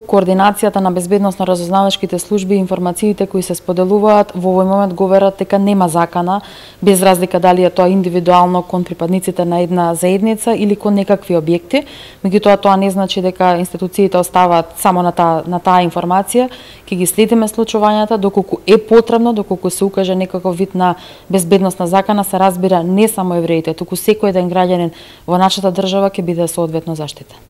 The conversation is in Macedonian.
Координацијата на безбедносно-разузнавачките служби и информациите кои се споделуваат во овој момент го верат дека нема закана, без разлика дали е тоа индивидуално кон припадниците на една заедница или кон некакви објекти. Меѓутоа тоа не значи дека институциите оставаат само на таа информација, ќе ги следиме случувањата доколку е потребно, доколку се укаже некаков вид на безбедносна закана, се разбира не само евреите, туку секој еден граѓанин во нашата држава ќе биде соодветно заштитен.